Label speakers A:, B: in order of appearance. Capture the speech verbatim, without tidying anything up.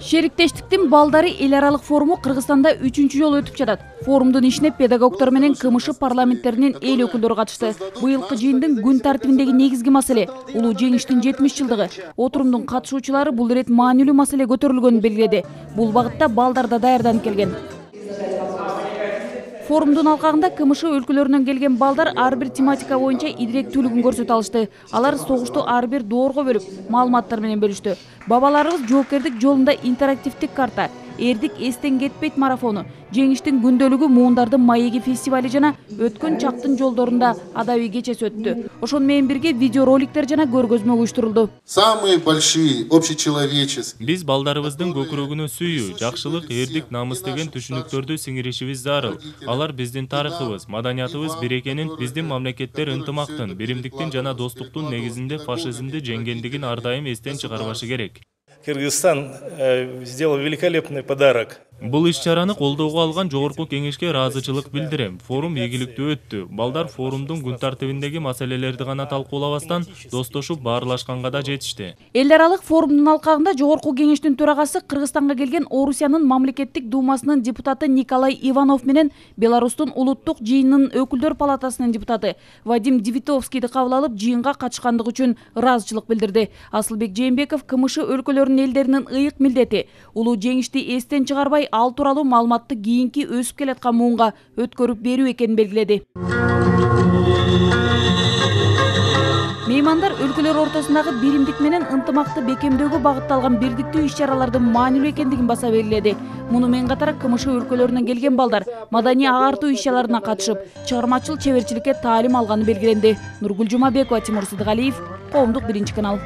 A: Шериктештиктин балдары эл аралык форуму Кыргызстанда үчүнчү жолу өтүп жатат. Форумдун ишине педагогдор менен КМШ парламенттеринин эл өкүлдөрү катышты. Быйылкы жыйындын күн тартибиндеги негизги маселе улуу жеңиштин жетимиш жылдыгы. Отурумдун катышуучулары бул ирет маанилүү маселе көтөрүлгөнүн белгиледи. Бул багытта балдар да даярданып келген. Форумдун алкагында КМШ өлкөлөрүнөн келген балдар ар бир тематика боюнча идиректүүлүгүн көрсөтө алышты. Алар согушту ар бир доорго бөлүп, маалыматтар менен бөлүштү. Бабаларыбыз жоокердик жолунда интерактивдик карта, эрдик эстен кетпейт марафону, жеңиштин күндөлүгү муундардын маеги фестивали жана өткөн чактын жолдорунда адабий кечеси өттү. Ошону менен бирге видеороликтер жана көргөзмө уюштурулду.
B: Самые большие общечеловеческие.
C: Биз балдарыбыздын көкүрөгүнө сүйүү, жакшылык, эрдик, намыс деген түшүнүктөрдү сиңиришибиз зарыл. Алар биздин тарыхыбыз, маданиятыбыз бир экенин, биздин мамлекеттер ынтымактын, биримдиктин жана достуктун негизинде фашизмди жеңгендигин ар дайым эстен чыгарбашы керек.
D: Кыргызстан э, сделал великолепный подарок.
C: Бул иш-чараны колдоого алган жогорку кеңешке ыраазычылык билдирем. Форум ийгиликтүү өттү. Балдар форумдун күн тартибиндеги маселелерди гана талкуулабастан достошуп баарлашканга да жетишти.
A: Эл аралык форумдун алкагында жогорку кеңештин төрагасы Кыргызстанга келген Орусиянын мамлекеттик думасынын депутаты Николай Иванов менен Беларустун улуттук жыйынынын өкүлдөр палатасынын депутаты Вадим Девитовскийди кабыл алып, жыйынга катышкандыгы үчүн ыраазычылык билдирди. Асылбек Жээнбеков КМШ өлкөлөрүнүн элдеринин ыйык милдети улуу жеңишти эстен чыгарбай, ал тууралуу маалыматты кийинки өсүп келаткан муунга өткөрүп берүү экенин белгиледи. Меймандар өлкөлөр ортосундагы биримдик менен ынтымакты бекемдөөгө багытталган бирдиктүү иш-чаралардын маанилүү экендигин баса белгиледи. Муну менен катар КМШ өлкөлөрүнөн келген балдар маданий агартуу иш-чараларына катышып, чыгармачыл чеберчиликке таалим алганы белгиленди. Нургүл Жумабекова, Тимур Сыдыгалиев, Коомдук биринчи канал.